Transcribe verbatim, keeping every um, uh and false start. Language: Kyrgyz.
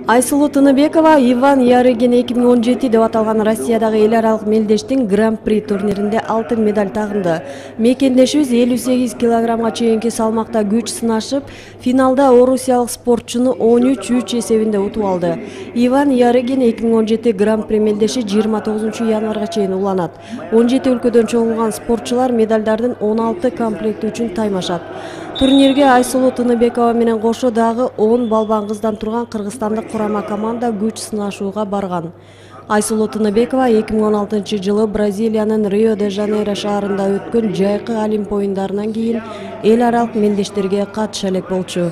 Айсулуу Тыныбекова Иван Ярыгин эки миң он жети деп аталган Россиядагы эл аралык мелдештин Гран-при турниринде алтын медаль тагынды. Мекендешибиз элүү сегиз килограммга чейинки салмакта күч сынашып, финалда орусиялык спортчуну он үч үч эсебинде утуп алды. Иван Ярыгин эки миң он жети Гран-при мелдеши жыйырма тогузунчу январга чейин уланат. он жети өлкөдөн чогулган спортчулар медальдардын он алты комплекти үчүн таймашат. Турнирге Айсулуу Тыныбекова менен кошо дагы он балбан кыздан турган кыргызстандык курама команда күч сынашууга барган. Айсулуу Тыныбекова эки миң он алтынчы жылы Бразилиянын Рио-де-Жанейро шаарында өткөн жайкы Олимп оюндарынан кийин эл аралык мелдештерге катыша элек болчу.